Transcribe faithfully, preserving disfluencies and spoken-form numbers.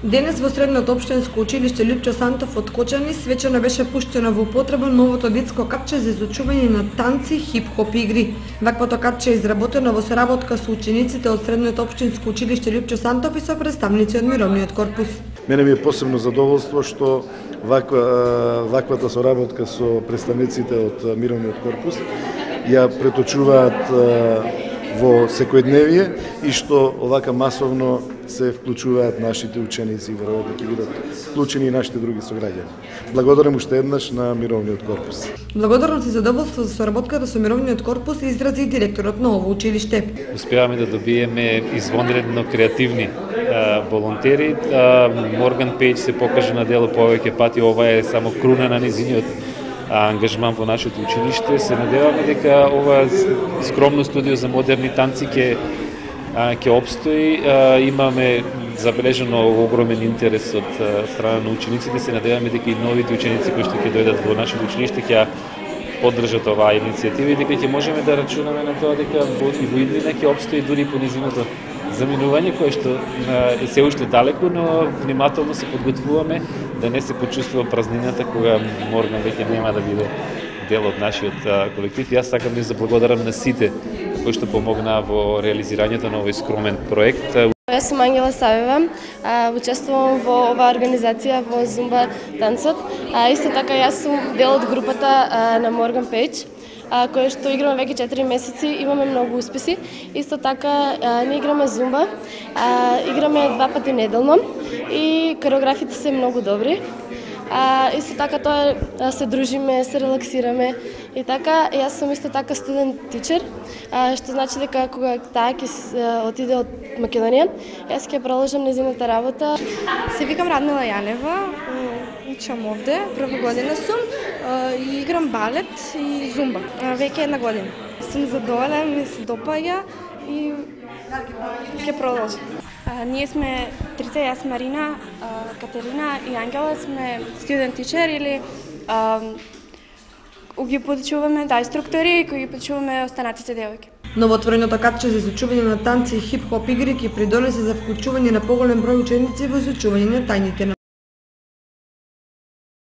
Денес во Средното општинско училиште Лјупчо Сантов од Кочани свечено беше пуштено во употреба новото детско катче за изучување на танци, хип-хоп игри. Ваквото катче е изработено во соработка со учениците од Средното општинско училиште Лјупчо Сантов и со представници од мировниот корпус. Мене ми е посебно задоволство што ваква, ваквата соработка со представниците од мировниот корпус ја преточуваат во секојдневие и што овака масовно се вклучуваат нашите ученици и веројатно ќе бидат вклучени и нашите други сограѓани. Благодарам уште еднаш на мировниот корпус. Благодарност и задоволство за соработката со мировниот корпус изрази и директорот на ово училиште. Успеаваме да добиеме извонредно креативни а, волонтери. А, Морган Пејдж се покажа на дело повеќе пати, ова е само круна на незиниот ангажман во нашето училиште. Се надеваме дека ова скромно студио за модерни танци ќе ќе обстои. Имаме забележано огромен интерес од страна на учениците. Се надеваме дека и новите ученици кои што ќе дојдат во нашето училиште ќе поддржат оваа иницијатива и дека ќе можеме да рачунаме на тоа дека и во иднина ќе обстои дури по низиното заминување кое што е се уште далеко, но внимателно се подготвуваме да не се почувствува празнината кога Морган веќе нема да биде дел од нашиот колектив. Јас сакам да заблагодарам на сите кои што помогнаа во реализирањето на овој скромен проект. Јас сум Ангела Савева, учествувам во оваа организација во Зумба танцот. Исто така јас сум дел од групата на Морган Пејдж, која што играме веќе четири месеци, имаме многу успеси. Исто така ние играме зумба, играме два пати неделно и кореографите се многу добри. А, исто така тоа се дружиме, се релаксираме и така јас сум исто така студент тичер, што значи дека кога таа ќе отиде од Македонија, јас ќе продолжам незината работа. Се викам Радмила Јанева, учам овде, прва година сум и играм балет и зумба. Веќе една година. Сум задоволена, ми се допаѓа и ќе продолжам. А, ние сме трите, јас Марина, а, Катерина и Ангела, сме студент тичер или а, ги подучуваме да инструктори кои ги подучуваме останатите девојки. Новоотвореното катче за изучување на танци и хип-хоп игри ќе придонесе за вклучување на поголем број ученици во изучување на тајните на